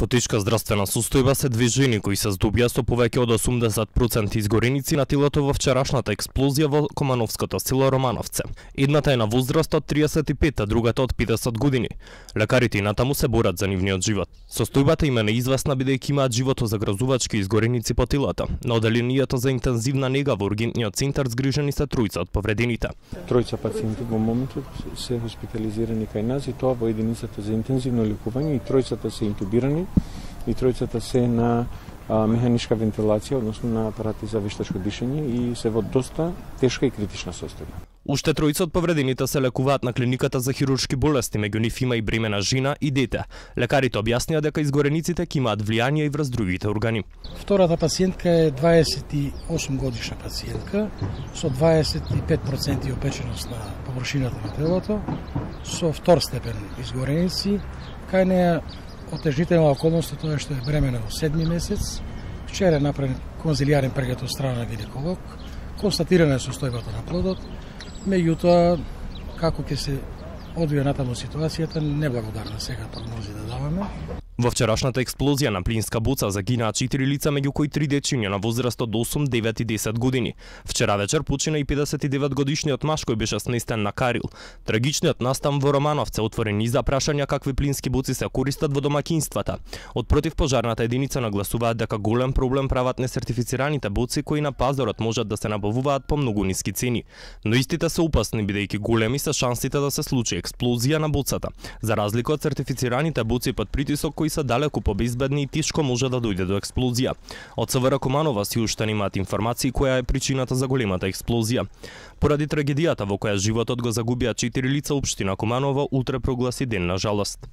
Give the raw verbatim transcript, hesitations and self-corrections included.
Во тешка здравствена состојба се две жени кои се здобија со повеќе од осумдесет проценти изгореници на телото во вчерашната експлозија во Комановското село Романовце. Едната е на возраст од триесет и пет, а другата од педесет години. Лекарите и натаму се борат за нивниот живот. Состојбата им е неизвестна бидејќи имаат животозагрозувачки изгореници по телата. На оделението за интензивна нега во ургентниот центар згрижени се тројца од повредените. Тројца пациенти во моментот се хоспитализирани кај нас и тоа во единицата за интензивно лекување и тројцата се интубирани и тројцата се на а, механичка вентилација, односно на апарати за вештачко дишење и се во доста тешка и критична состојба. Уште тројца од повредените се лекуваат на клиниката за хируршки болести, меѓу нив има и бремена жена и дете. Лекарите објаснија дека изгорениците ќе имаат влијание и врз другите органи. Втората пациентка е дваесет и осум годишна пациентка со дваесет и пет проценти опеченост на површината на телото, со втор степен изгореници. Кај неја отежнителна околност е тоа што е бремена во седми месец. Вчера е направен конзилијарен преглед од страна на гинеколог. Констатирана е состојбата на плодот. Меѓутоа, како ќе се одвија натаму ситуацијата, неблагодарна сега прогнози да даваме. Во вчерашната експлозија на плинска боца загинаа четири лица, меѓу кои три дечиња на возраст од осум, девет и десет години. Вчера вечер почина и педесет и девет годишниот маж кој беше сместен на Карил. Трагичниот настан во Романовце отворен и за прашања какви плински боци се користат во домаќинствата. Од противпожарната единица нагласуваат дека голем проблем прават несертифицираните боци кои на пазарот можат да се набавуваат по многу ниски цени. Но истите се опасни бидејќи големи се шансите да се случи експлозија на боцата. За разлика од сертифицираните боци под притисок кои се далеку побезбедни и тешко може да дојде до експлозија. Од СВР Куманова си уште немаат информации која е причината за големата експлозија. Поради трагедијата во која животот го загубија четири лица, општина Куманова утре прогласи ден на жалост.